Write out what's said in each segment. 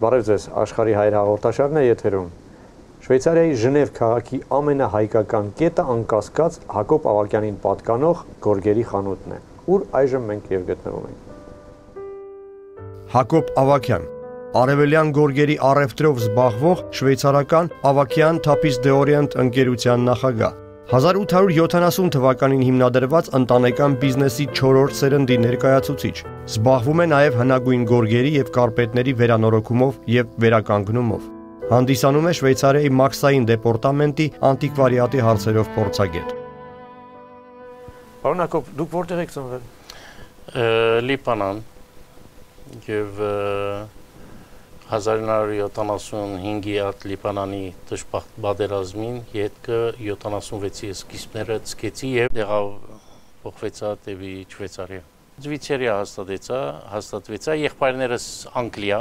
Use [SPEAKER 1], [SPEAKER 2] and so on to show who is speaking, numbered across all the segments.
[SPEAKER 1] Բարև ձեզ, Աշխարհի հայր հաղորդաշարն է եթերում։ Շվեյցարիայի Ժնև քաղաքի ամենահայկական կետը անկասկած Հակոբ Ավագյանին պատկանող գորգերի խանութն է, ուր այժմ մենք եւ գտնվում ենք։
[SPEAKER 2] Հակոբ Ավագյան, արևելյան գորգերի առևտրով զբաղվող շվեյցարական Ավագյան Թափիս դե Օրիենտ ընկերության նախագահ։ 1870 թվականին հիմնադրված ընտանեկան բիզնեսի 4-րդ սերնդի ներկայացուցիչ, զբաղվում է նաև հնագույն գորգերի և կարպետների վերանորոգումով և վերականգնումով։ Հանդիսանում է Շվեյցարիայի Մաքսային դեպարտամենտի անտիկվարիատի հարցերով փորձագետ։
[SPEAKER 1] Պարոն Հակոբ, դուք որտեղ եք ծնվել։
[SPEAKER 3] Լիբանան և 1975-ի այդ Լիբանանի դժբախտ պատերազմին ետքը 76-ի սկիզբները ցկեցի և եղավ փոխվեցա դեպի Շվեյցարիա։ Շվեյցարիա հաստատվեցա, եղբայրներս Անգլիա,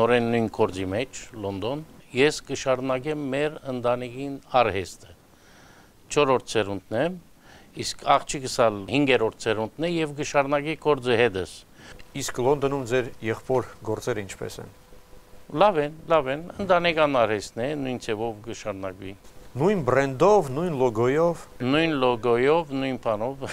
[SPEAKER 3] նորեն նույն գործի մեջ, Լոնդոն։ Ես կշարունակեմ մեր ընտանիքին արհեստը։ 4-րդ սերունդն եմ, իսկ աղջիկս ալ 5-րդ սերունդն է և կշարունակի գործը հետս։
[SPEAKER 1] Իսկ Լոնդոնում ձեր եղբոր գործերը ինչպես են։
[SPEAKER 3] Լավ են, ընտանեկան արհեստն է, նույն ձևով կշարունակվի։
[SPEAKER 1] Նույն բրենդով, նույն լոգոյով։
[SPEAKER 3] Նույն լոգոյով, նույն բանով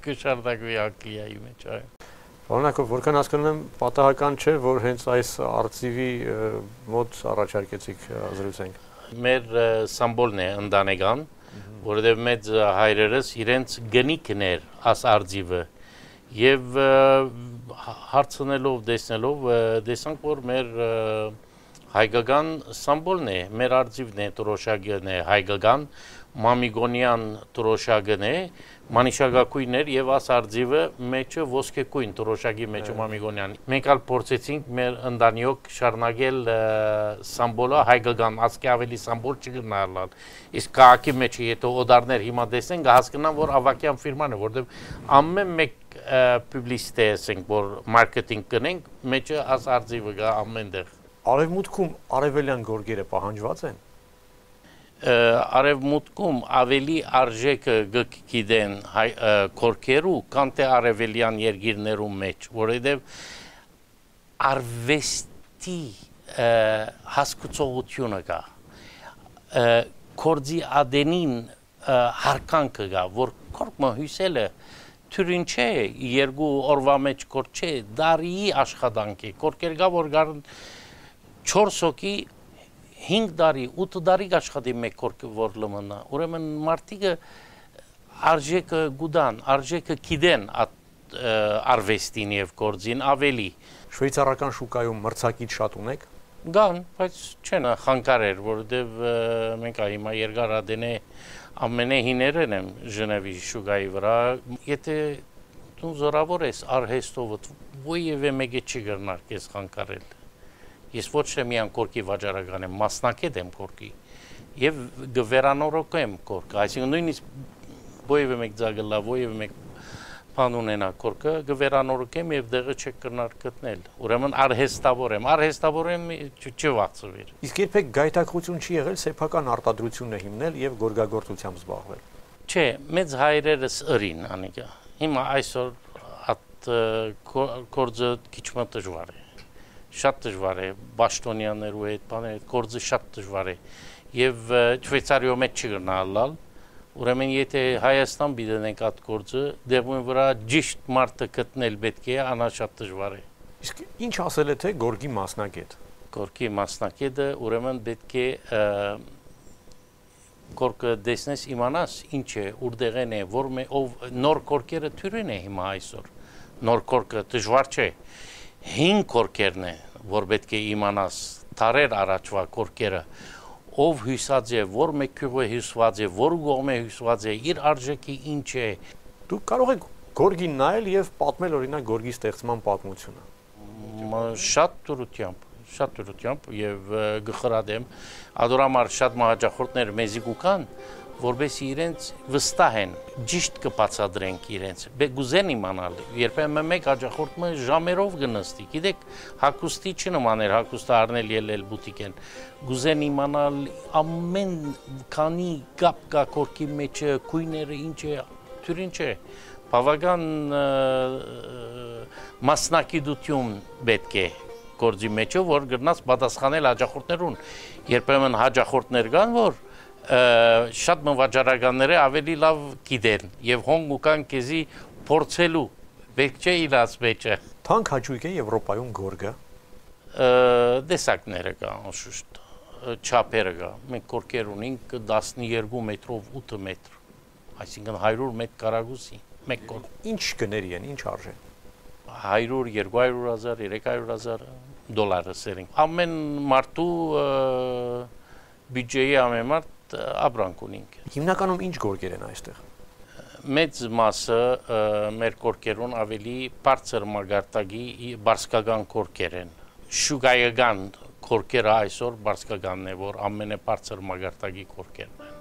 [SPEAKER 3] կշարունակվի Անգլիայի մեջ, այո։
[SPEAKER 1] Պարոն Հակոբ, որքան հասկանում եմ, պատահական չէ, որ հենց այս արծիվի մոտ առաջարկեցիք զրուցենք։
[SPEAKER 3] Մեր սամբոլն է ընտանեկան, որովհետև մեծ հայրերս իրենց գնիկն էր աս արծիվը և հարցնելով, տեսնելով, տեսանք, որ մեր հայկական սամբոլն է, մեր արծիվն է, տրոշակն է հայկական, մամիգոնյան տրոշակն է, մանիշակագույն էր և աս արծիվը մեջը ոսկեգույն տրոշակի մեջը մամիգոնյան։ Մենք ալ փորձեցինք մեր ընտանիոք շարունակել սամբոլը հայկական, ասկի ավելի սամբոլ չգնալալ։ Իսկ քաղաքի մեջը եթե օդարներ հիմա տեսնեն, կհասկանան, որ Ավագյան ֆիրման է, որտեղ ամեն մեկ պուբլիսիտե ասենք, որ մարքեթինգ կնենք, մեջը աս արծիվը կա ամենտեղ։
[SPEAKER 1] Արևմուտքում արևելյան գորգերը պահանջված են։
[SPEAKER 3] Արևմուտքում ավելի արժեքը գիտեն գորգերու, քան թե արևելյան երկիրներում մեջ, որովհետև արվեստի հասկացողությունը կա, գործի ադենին հարկանքը կա, որ գորգը հյուսելը թյուրին չէ, երկու օրվա մեջ գործ չէ, դարիի աշխատանք է, գորգեր կա, որ գարն 4 հոգի 5 տարի, 8 տարի աշխատի մեկ գորգը որ լմնա, ուրեմն մարդիկը արժեքը գուդան, արժեքը գիտեն արվեստին և գործին ավելի։
[SPEAKER 1] Շվեյցարական շուկայում մրցակից շատ ունեք։
[SPEAKER 3] Կան, բայց չեն խանգարեր, որովհետև մենք հիմա երկար ադենե ամենահիներն եմ Ժնևի շուկայի վրա, եթե դու զորավոր ես արհեստով, ոյևէ մեկը չի գրնար կես խանգարել։ Ես ոչ թե միան գորգի վաճառական եմ, մասնակետ եմ գորգի և գվերանորոգեմ գորգը, այսինքն նույնիսկ ոյևէ մեկ ձագլա, ոյևէ մեկ բան ունենա գորգը, գվերանորոգեմ և դեղը չեք կրնար գտնել, ուրեմն արհեստավոր եմ չվախցվիր։
[SPEAKER 1] Իսկ երբեք գայթակղություն չի եղել սեփական արտադրությունը հիմնել և գորգագործությամբ զբաղվել։
[SPEAKER 3] Չէ, մեծ հայրերս ըրին անիկա, հիմա այսօր այդ գործը քիչ մը դժվար է, շատ դժվար է, բաշտոնյաներու հետ բաներ, գործը շատ դժվար է և Շվեյցարիո մեջ չգնալալ, ուրեմն եթե Հայաստան բիդենենք այդ գործը, դեպքում վրա ճիշտ մարդը գտնել պետք է, անա շատ դժվար է։
[SPEAKER 1] Իսկ ինչ ասել է թե գորգի մասնակետ։
[SPEAKER 3] Գորգի մասնակետը ուրեմն պետք է գորգը տեսնես իմանաս ինչ է, ուրդեղեն է, որ նոր գորգերը թյուրին է հիմա այսօր, նոր գորգը դժվար չէ, 5 գորգերն է, որ պետք է իմանաս, տարեր առաջվա գորգերը, ով հյուսած է, որ մեկ գյուղը հյուսված է, որ կողմը հյուսված է, իր արժեքի ինչ է։
[SPEAKER 1] Դուք կարող եք գորգին նայել և պատմել օրինակ գորգի ստեղծման պատմությունը։
[SPEAKER 3] Շատ դրությամբ և գխրադեմ, ադորամար շատ մահաճախորդներ մեզի կուքան, որբեսի իրենց վստահ են, ճիշտ կբացատրենք իրենց, գուզեն իմանալ, երբեմն մեկ հաճախորդը ժամերով կնստի, գիտեք, հագուստի չնման էր, հագուստը առնել ելել բուտիկ են, գուզեն իմանալ ամեն քանի կապ կա գորգի մեջը, գույները ինչ է, թյուրին չէ, բավական մասնակցություն պետք է գործի մեջը, որ գրնաց պատասխանել հաջախորդներուն։ Երբեմն հաջախորդներ կան, որ շատ մվաճառականները ավելի լավ գիտեն եւ հոն ուկան քեզի փորձելու բեք չէ իրաց մեջը։
[SPEAKER 1] Թանկ հաճույք է Եվրոպայում գորգը։
[SPEAKER 3] Դեսակները կա, անշուշտ, չափերը կա։ Մենք կորկեր ունենք 12 մետրով 8 մետր, այսինքն 100 մետր կարագուսի, մեկ կորկ։
[SPEAKER 1] Ինչ գների են, ինչ արժեն։
[SPEAKER 3] 100, 200,000, 300,000 դոլարը սերին։ Ամեն մարդու բյուջեի ամեն մարդ ապրանք ունենք։
[SPEAKER 1] Հիմնականում ինչ գորգեր են այստեղ։
[SPEAKER 3] Մեծ մասը մեր կորկերուն ավելի բարձր մագարտակի բարսկական կորկեր են։ Շուգայական կորկերը այսօր բարսկականն է, որ ամենաբարձր մագարտակի կորկերն են։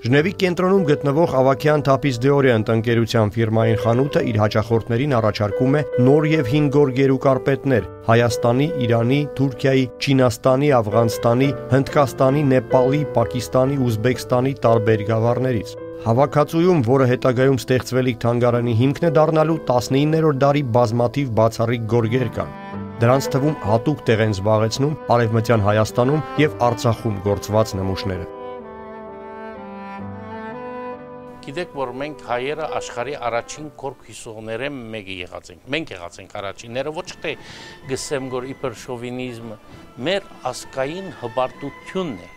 [SPEAKER 2] Ժնևի կենտրոնում գտնվող Ավագյան Թապիզ Դեորիանտ ընկերության ֆիրմային խանութը իր հաճախորդներին առաջարկում է նոր եւ հին գորգեր ու կարպետներ Հայաստանի, Իրանի, Թուրքիայի, Չինաստանի, Աֆղանստանի, Հնդկաստանի, Նեպալի, Պակիստանի, Ուզբեկստանի տարբեր գավառներից։ Հավաքածուում, որը հետագայում ստեղծվելիք թանգարանի հիմքն է դառնալու, 19-րդ դարի բազմաթիվ բացառիկ գորգեր կան։ Դրանց թվում հատուկ տեղ են զբաղեցնում Արևմտյան Հայաստանում եւ Արցախում գործված նմուշները։
[SPEAKER 3] Գիտեք, որ մենք հայերը աշխարհի առաջին կորկ հյուսողները մեկը եղած ենք։ Մենք եղած ենք առաջինները, ոչ թե գսեմ որ իբր շովինիզմ, մեր ասկային հբարտությունն է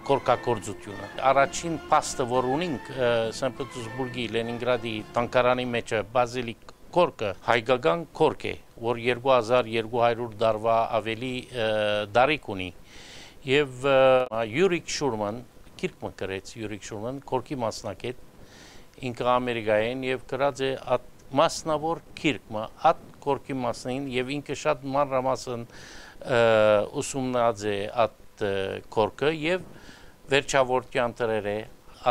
[SPEAKER 3] կորկակորձությունը։ Առաջին փաստը, որ ունենք Սանտ Պետերսբուրգի, Լենինգրադի տանկարանի մեջ բազիլիկ կորկը հայկական կորկ է, որ 2200 դարվա ավելի դարիք ունի։ Եվ Յուրիկ Շուրման, գիրք գրեց Յուրիկ Շուրման, կորկի մասնակետ ինքը Ամերիկայեն եւ գրած է մասնավոր գիրքը, at կորկի մասնին եւ ինքը շատ մանրամասն ուսումնած է at կորկը եւ վերջավորության դրեր է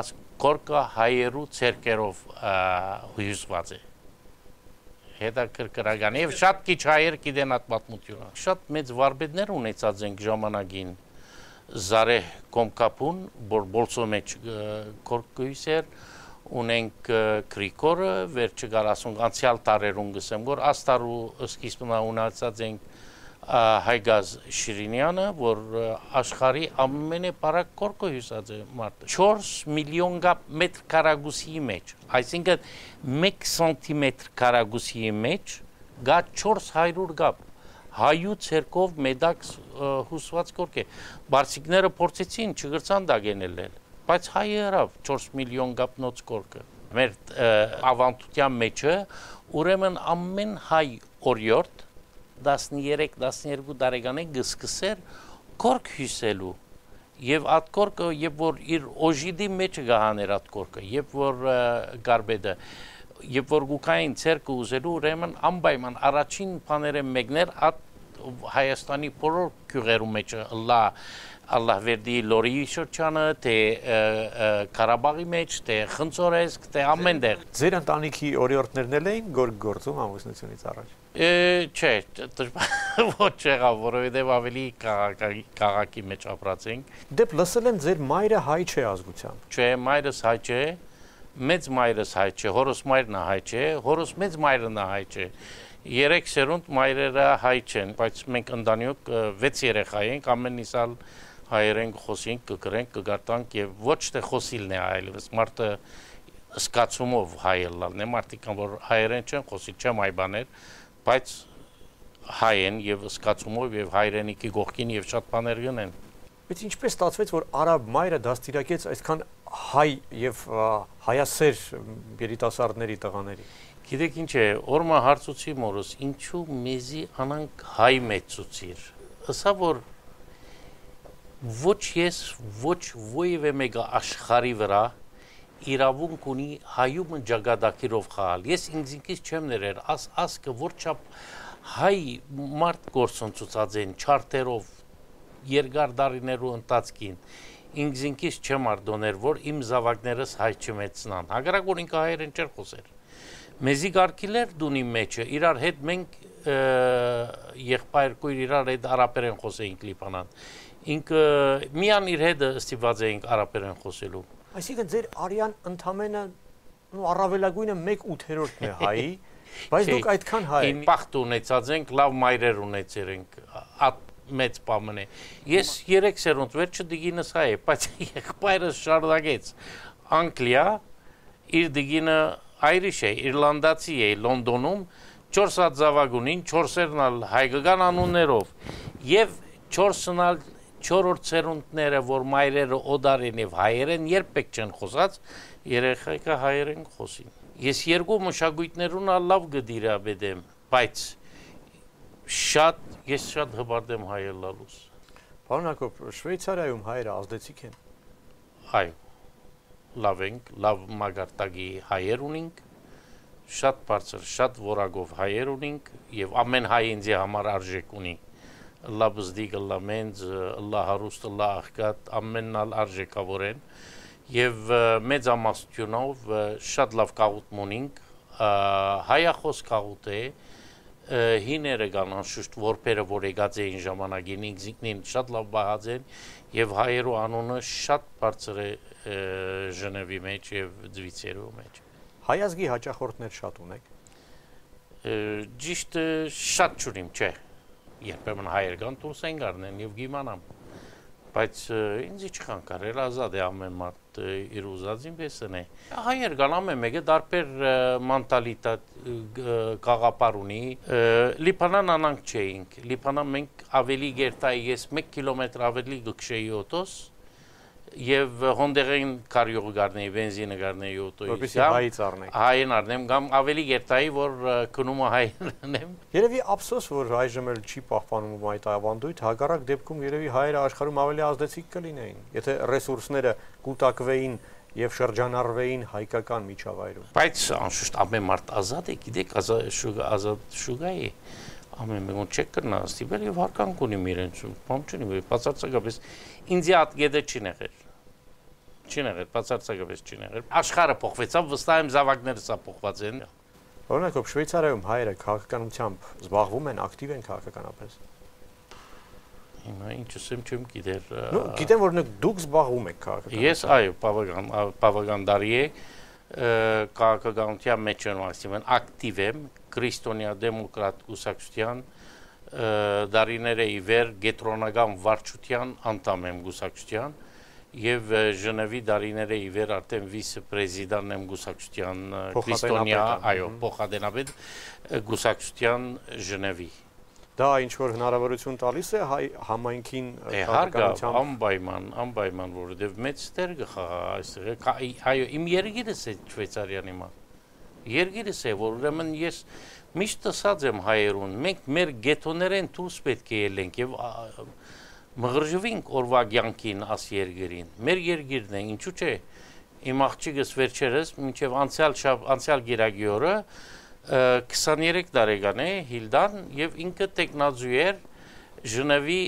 [SPEAKER 3] աս կորկը հայերու ցերկերով հույզված է։ Հետաքրքրական եւ շատ քիչ հայեր գիտեն այդ պատմությունը։ Շատ մեծ վարպետներ ունեցած ենք ժամանակին Զարե Կոմկապուն, Բոլսո մեջ կորկույսեր ունենք Գրիգորը, վերջը գարասուն անցյալ տարերուն գսեմ, որ աստարու սկիզբնա ունեցած ենք Հայգազ Շիրինյանը, որ աշխարհի ամենաբարակ կորկը հյուսած է մարդը 4 միլիոն մետր կարագուսի մեջ, այսինքն 1 սանտիմետր կարագուսի մեջ գա 400 գապ հայու ցերկով մեդակ հյուսված կորկ է։ Բարսիկները փորձեցին, չգրցան դագենել, բայց հայը հրավ 4 միլիոն գապնոց կորկը։ Մեր ավանդության մեջը ուրեմն ամեն հայ օրիորդ 13-12 տարեկան գսկսեր կորկ հյուսելու եւ այդ կորկը երբ որ իր օժիդի մեջ գահաներ այդ կորկը երբ որ գարբեդը երբ որ գուկային ցերկը ուզելու ուրեմն անպայման առաջին բաները մեկներ այդ Հայաստանի բոլոր քյուղերու մեջ Allah verdi լորի շրջանը թե Ղարաբաղի մեջ թե Խնձորեսկ թե ամենտեղ
[SPEAKER 1] Ձեր ընտանիքի օրիորդներն էլ էին գորգ գործում ամուսնությունից առաջ
[SPEAKER 3] Չէ, ոչ եղավ, որովհետև ավելի քաղաքի մեջ ապրած ենք։
[SPEAKER 1] Դեպ լսել եմ ձեր մայրը հայ չէ ազգությամբ։
[SPEAKER 3] Չէ, մայրս հայ չէ, մեծ մայրս հայ չէ, հորս մայրն հայ չէ, հորս մեծ մայրն հայ չէ։ 3 սերունդ մայրերը հայ չեն, բայց մենք ընտանիք 6 երեխա ենք, ամեն իսալ հայերեն խոսենք, կգրենք, կգարտանք եւ ոչ թե խոսիլն է այլևս մարդը սկացումով հայելալն է, մարդիկ որ հայերեն չեն խոսի, չեմ այ բաներ, բայց հայ են եւ սկացումով եւ հայրենիքի գողքին եւ շատ բաներ գնեն։
[SPEAKER 1] Բայց ինչպես ստացվեց, որ արաբ մայրը դաստիարակեց այսքան հայ եւ հայասեր երիտասարդների տղաների։
[SPEAKER 3] Գիտեք ինչ է, օրմա հարցուցի մորս, ինչու մեզի անանք հայ մեծուցիր։ Ըսա որ ոչ ես, ոչ ոևէ մեկը աշխարհի վրա իրավունք ունի հայում ջագադակիրով խաղալ։ Ես ինքնից չեմ ներեր, ասկը որչափ հայ մարդ գործընծուցած են չարտերով երկար դարիներու ընթացքին ինքնից չեմ արդոներ, որ իմ զավակներս հայ չմեծնան։ Հակառակ որ ինքը հայերեն չէր խոսեր։ Մեզի գարկիլեր դունի մեջը, իրար հետ մենք եղբայրկույր իրար հետ արաբերեն խոսեինք Լիբանան։ Ինքը միան իր հետ ստիպված էինք արաբերեն խոսելու։
[SPEAKER 1] Այսինքն ձեր արյան ընդամենը առավելագույնը 1/8-ն է հայի, Բայց դուք այդքան հայ
[SPEAKER 3] եք։ Պախտ ունեցած ենք, լավ մայրեր ունեցել ենք, մեծ պամն է։ Ես 3 սերունդ վերջը դիգինս հայ է, բայց եղբայրս շարունակեց Անգլիա, իր դիգինը Irish է, Իռլանդացի է, Լոնդոնում 4 հատ զավագունին, 4-երն ալ հայկական անուններով եւ 4-ն ալ 4-րդ սերունդները, որ մայրերը օդարեն եւ հայերեն երբեք չեն խոսած, երեխայքը հայերեն խոսին։ Ես երկու մշակույթներուն ալ լավ գդիրաբեդեմ, բայց ես շատ հբարդեմ հայեր լալուս։
[SPEAKER 1] Պարոն Հակոբ, Շվեյցարիայում հայերը ազդեցիկ են։
[SPEAKER 3] Այո, լավ ենք, լավ մագարտակի հայեր ունենք, շատ բարձր, շատ որակով հայեր ունենք եւ ամեն հայ ինձ համար արժեք ունի։ Ըլլա բզդիկ, ըլլա մենձ, ըլլա հարուստ, ըլլա աղքատ, ամենն ալ արժեքավոր են եւ մեծ ամասությունով շատ լավ կաղուտ ունենք, հայախոս կաղուտ է, հիները կան անշուշտ որբերը, որ եկած էին ժամանակին, ինքնին շատ լավ բաղած են եւ հայերու անունը շատ բարձր է Ժնևի մեջ եւ Ձվիցերու մեջ։
[SPEAKER 1] Հայազգի հաճախորդներ շատ ունեք։
[SPEAKER 3] Ճիշտ շատ չունիմ, չէ։ Երբեմն հայեր կան դուրս են գարնեն եւ գիմանամ։ Բայց ինձ չքան կարել ազատ է ամեն մարդ իր ուզածին պես է։ Հայեր կան ամեն մեկը դարբեր մենտալիտետ գաղապար ունի։ Լիբանան անանք չէինք։ Լիբանան մենք ավելի գերտայի ես 1 կիլոմետր ավելի գքշեի օտոս եւ հոնդերեն կարյող գարնեի բենզինը գարնեի օտոյի։
[SPEAKER 1] Որպեսզի հայից առնեք։
[SPEAKER 3] Հային առնեմ, կամ ավելի գերտայի, որ քնումը հային անեմ։
[SPEAKER 1] Երևի ափսոս, որ այժմ էլ չի պահպանում այդ ավանդույթ, հակառակ դեպքում երևի հայերը աշխարհում ավելի ազդեցիկ կլինեին, եթե ռեսուրսները կուտակվեին եւ շրջանառվեին հայկական միջավայրում։
[SPEAKER 3] Բայց անշուշտ ամեն մարդ ազատ է, գիտեք, ազատ շուգա է։ Ամեն մեկուն չեք կրնա ստիպել եւ հարկանք ունի իրենց, բան չունի, բացարձակապես ինձ ատգեդը չի եղել։ Չի եղել, բացարձակապես չի եղել։ Աշխարհը փոխվեցավ, վստահ եմ զավակները սա փոխված են։
[SPEAKER 1] Պարոն Հակոբ, Շվեյցարիայում հայերը քաղաքականությամբ զբաղվում են, ակտիվ են քաղաքականապես։
[SPEAKER 3] Հիմա ինչ ասեմ, չեմ գիտեր։
[SPEAKER 1] Գիտեմ, որ դուք զբաղվում եք քաղաքականությամբ։
[SPEAKER 3] Ես այո, բավական դարի է քաղաքականության մեջ եմ ասիլեն ակտիվ եմ քրիստոնյա դեմոկրատ կուսակցության դարիները ի վեր գետրոնական վարչության անդամ եմ կուսակցության եւ Ժնևի դարիները ի վեր արդեն վիցե-պրեզիդենտ եմ կուսակցության քրիստոնյա այո փոխադենապետ կուսակցության Ժնևի
[SPEAKER 1] Դա ինչ որ հնարավորություն տալիս է հայ համայնքին
[SPEAKER 3] քաղաքականությամբ անպայման որովհետև մեծ տեր կխաղա այստեղ այո իմ երգիրս է Շվեյցարիան հիմա երգիրս է որ ուրեմն ես միշտ ասած եմ հայերուն մենք մեր գետոներեն դուրս պետք է ելենք եւ մղրժվենք օրվա կյանքին աս երգերին մեր երգիրն է ինչու՞ չէ իմ աղջիկս վերջերս մինչեւ անցյալ գիրագի օրը 23 տարեկան է Հիլդան եւ ինքը տեխնազու էր Ժնևի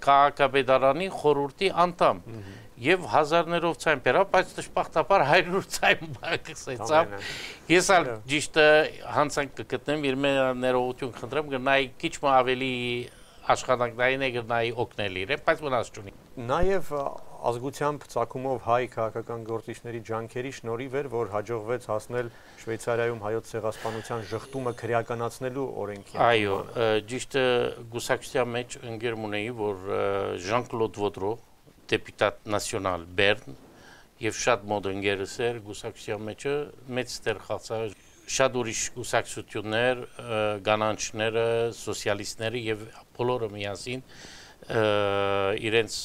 [SPEAKER 3] քաղաքապետարանի խորհրդի անդամ եւ հազարներով ցայն բերավ բայց դժբախտաբար 100 ցայն բացեցավ ես ալ ճիշտ հանցանք կգտնեմ իր ներողություն խնդրեմ գնայի քիչ ավելի աշխատանքային է գնայի օգնել իրեն բայց մնաց չունի
[SPEAKER 1] նաեւ ազգությամբ ցակումով հայ քաղաքական գործիչների ջանքերի շնորհիվ էր որ հաջողվեց հասնել Շվեյցարիայում հայոց ցեղասպանության ժխտումը քրեականացնելու օրենքին
[SPEAKER 3] այո ճիշտ գուսակցության մեջ ընկերմ ունեի որ Ժան-Կլոդ Ոդրո դեպուտատ նացիոնալ Բեռն եւ շատ մոտ ընկերս էր գուսակցության մեջը մեծ տեղ խաղացավ շատ ուրիշ գուսակցություններ կանանչները սոցիալիստները եւ բոլորը միասին իրենց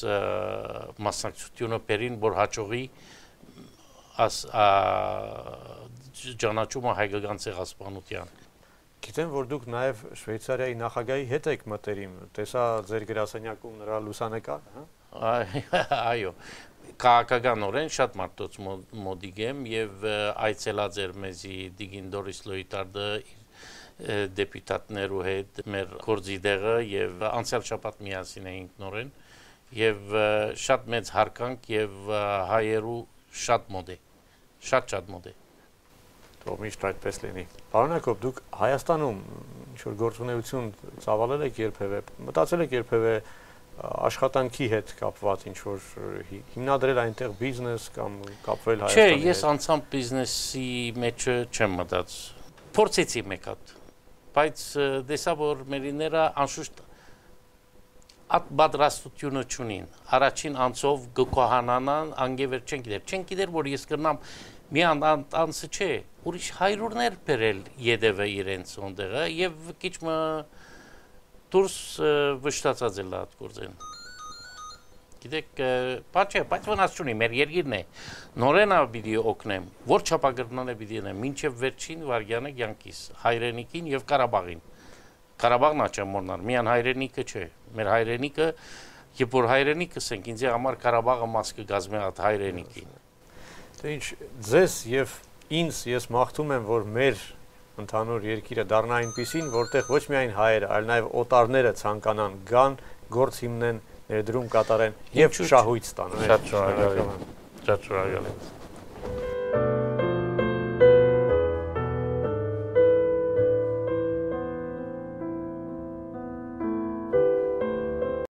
[SPEAKER 3] մասնակցությունը բերին որ հաջողի ճանաչումը հայկական ցեղասպանության
[SPEAKER 1] Գիտեմ որ դուք նաեւ Շվեյցարիայի նախագահի հետ եք մտերիմ տեսա ձեր գրասենյակում նրա լուսանկար
[SPEAKER 3] այո քաղաքականորեն շատ մարդոց մոդիկ եմ եւ այցելած էր մեզի Դիգին Դորիս Լոյտարդը դեպուտատներու հետ մեր գործի դեղը եւ անցյալ շաբաթ միասին էինք նորեն եւ շատ մեծ հարկանք եւ հայերու շատ մոդ է շատ մոդ է
[SPEAKER 1] Թող միշտ այդպես լինի Պարոն Հակոբ դուք Հայաստանում ինչ որ գործունեություն ծավալել եք երբևէ մտածել եք երբևէ աշխատանքի հետ կապված ինչ որ հիմնադրել այնտեղ բիզնես կամ կապվել Հայաստանի հետ
[SPEAKER 3] Չէ, ես անցամ բիզնեսի մեջ չեմ մտած փորձեցի մեկ հատ, բայց դեսա որ մերիները անշուշտ at պատրաստությունը չունին, առաջին անցով գկոհանանան, անգևեր չեն գիտեր, որ ես կրնամ մի անցը չէ, ուրիշ հայրուրներ բերել յետևը իրենց ոնդեղը և քիչ մը դուրս վշտացած էլ այդ գործեն։ Գիտեք, բայց վնաս չունի, մեր երկիրն է, նորենա պիտի օգնեմ, որ չափագրնան է պիտի ենեմ, մինչև վերջին վարգյանը կյանքիս, հայրենիքին և Կարաբաղին։ Կարաբաղն աչեմ մորնար, միան հայրենիքը չէ, մեր հայրենիքը, երբ որ հայրենիքս ենք, ինձ համար Կարաբաղը մաս կգազմի այդ հայրենիքին։
[SPEAKER 1] Դե ինչ, ձեզ և ինձ ես մաղթում եմ, որ մեր ընդհանուր երկիրը դառնա այնպիսին, որտեղ ոչ միայն հայերը, այլ նաև օտարները ցանկանան գան, գործ հիմնեն, ներդրում կատարեն և շահույթ ստանան։
[SPEAKER 3] Շատ շնորհակալ եմ։